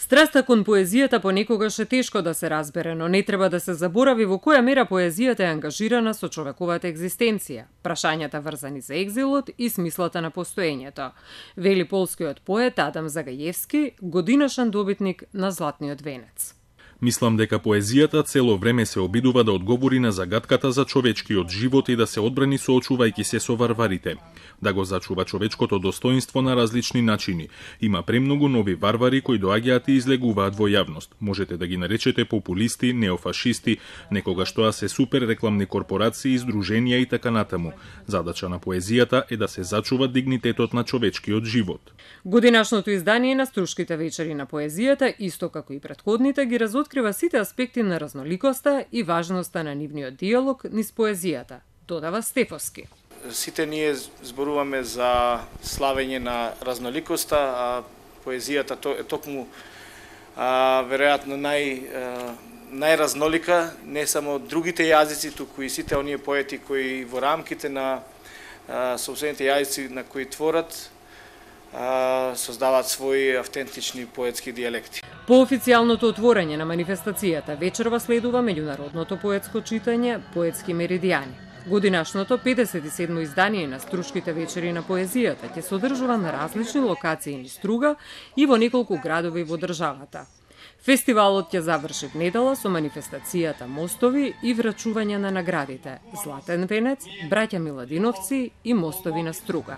Страста кон поезијата понекогаш е тешко да се разбере, но не треба да се заборави во која мера поезијата е ангажирана со човековата екзистенција, прашањата врзани за екзилот и смислата на постоењето, вели полскиот поет Адам Загаевски, годинашен добитник на Златниот венец. Мислам дека поезијата цело време се обидува да одговори на загадката за човечкиот живот и да се одбрани соочувајќи се со варварите, да го зачува човечкото достоинство на различни начини. Има премногу нови варвари кои доаѓаат и излегуваат во јавност. Можете да ги наречете популисти, неофашисти, некогаш тоа се супер рекламни корпорации, издруженија и така натаму. Задача на поезијата е да се зачува дигнитетот на човечкиот живот. Годинашното издание на Струшките вечери на поезијата, исто како и претходните, ги разоткрива сите аспекти на разноликоста и важноста на нивниот диалог низ поезијата, додава Стефовски. Сите ние зборуваме за славење на разноликоста, а поезијата е токму веројатно најразнолика, не само другите јазици, туку и сите оние поети кои во рамките на сопствените јазици на кои творат, создаваат своји автентични поетски дијалекти. По официјалното отворање на манифестацијата вечерва следува меѓународното поетско читање Поетски меридијани. Годинашното 57 издание на Струшките вечери на поезијата ќе се одржува на различни локации низ Струга и во неколку градови во државата. Фестивалот ќе заврши в недела со манифестацијата Мостови и врачување на наградите Златен венец, Браќа Миладиновци и Мостови на Струга.